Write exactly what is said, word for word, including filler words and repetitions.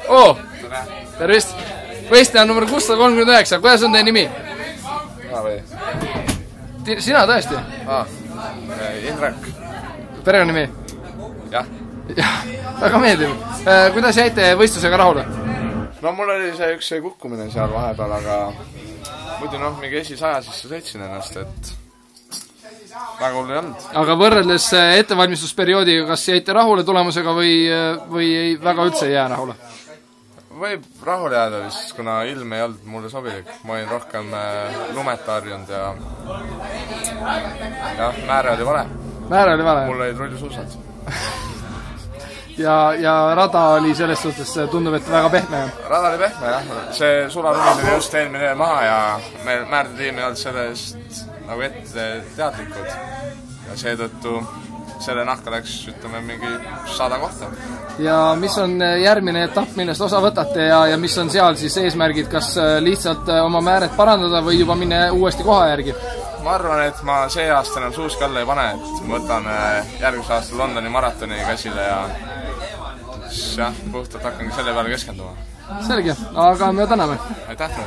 oo, tervist. Võistleja number kuussada kolmkümmend üheksa, kuidas on teie nimi? Sina tõesti? Indrek. Perekonnimi? Jah. Jah, väga meeldiv. Kuidas jäite võistlusega rahule? No mul oli see üks kukkumine seal vahepeal, aga muidu noh, mingi esisaja sisse sõitsin ennast, et väga hull ei olnud. Aga võrreldes ettevalmistusperioodiga, kas jäite rahule tulemusega või, või ei, väga üldse ei jää rahule? Võib rahule jääda vist, kuna ilm ei olnud mulle sobilik. Ma olin rohkem lumet harjunud ja jah, määre oli vale. Määre oli vale? Mul olid rullisuusad. ja, ja rada oli selles suhtes, tundub, et väga pehme. Rada oli pehme, jah. See sularumi oli just eelmine maha ja meil määrde tiim ei olnud sellest nagu ette teadlikud. Ja seetõttu selle nahka läks, ütleme, mingi sada kohta. Ja mis on järgmine etapp, millest osa võtate ja, ja mis on seal siis eesmärgid, kas lihtsalt oma määret parandada või juba minna uuesti koha järgi? Ma arvan, et ma see aasta enam suuski alla ei pane, et ma võtan järgmise aasta Londoni maratoni käsile ja jah, puhtalt hakkangi selle peale keskenduma. Selge, aga me täname. Aitäh!